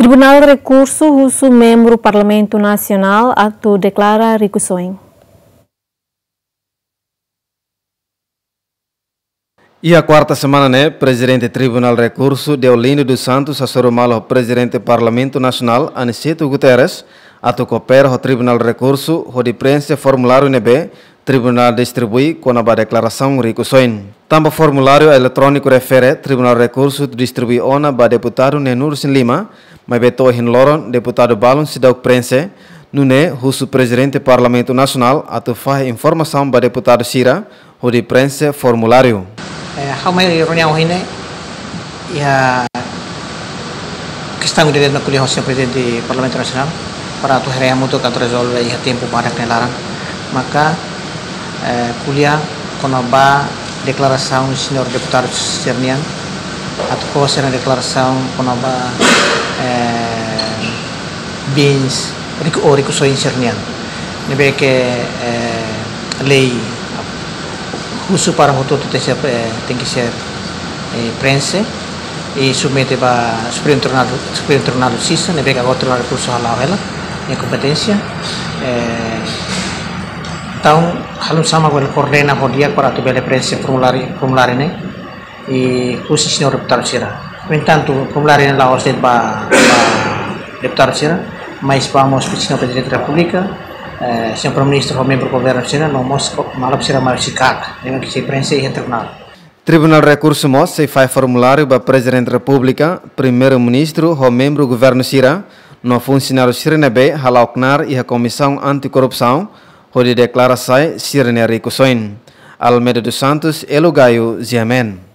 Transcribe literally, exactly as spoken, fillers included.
Tribunál Rekursu husu membru Parlamentu Nasionál atu deklara rikusoin. Iha kuarta semana ne'e, Prezidente Tribunál Rekursu, Deolindo dos Santos, hasoru malu ho Prezidente Parlamentu Nasionál, Aniceto Guterres, atu koopera ho Tribunál Rekursu hodi preenxe formuláriu ne'ebé Tribunál distribui kona-ba deklarasaun rikusoin. Tanba formuláriu eletróniku refere, Tribunál Rekursu distribui ona ba deputadu Nenur Sin Lima, maibé to'o ohin loron deputadu balun seidauk preenxe, nune'e husu Prezidente Parlamentu Nasionál atu fahe informasaun ba deputadu sira hodi preenxe formuláriu. Eh, ha'u mai reuniaun ohin ne'e, iha kestaun ida-ne'e mak ko'alia ho señór Prezidente Parlamentu Nasionál, para atu haree hamutuk atu rezolve iha tempu badak nia laran. Maka, eh, ko'alia kona-ba deklarasaun señór deputadu sira-nian, atu fó sira-nia deklarasaun kona-ba, eh, bens, riku-, ou rikusoin sira-nian. Ne'ebé ke, eh, lei husu para hotu-hotu tenke ser, eh, tenke ser, eh, preenxe i submete ba Supremu Tribunál, Supremu Tribunál Justisa, ne'ebé ke agora Tribunál Rekursu hala'o hela nia kompeténsia. Eh, entaun, halo hanesan mak bele koordena ho di'ak para atu bele preenxe formuláriu, formuláriu ne'e i husi señór deputadu sira. No entantu, formuláriu ne'e la'ós de'it ba, ba deputadu sira, mas ba mós señór Prezidente Repúblika, eh, señór Primeiru-Ministru ho membru governu sira, no mós ko-, maluk sira mai husi KAK, ne'ebé ke sei preenxe iha tribunál. Tribunál Rekursu mós sei fahe formuláriu ba Prezidente Repúblika, Primeiru-Ministru ho membru governu sira, no funsionáriu sira ne'ebé hala'o knaar iha Komisaun Anti-Korrupsaun, hodi deklara sai sira-nia rikusoin. Almeida dos Santos, Elo Gaio, G M N.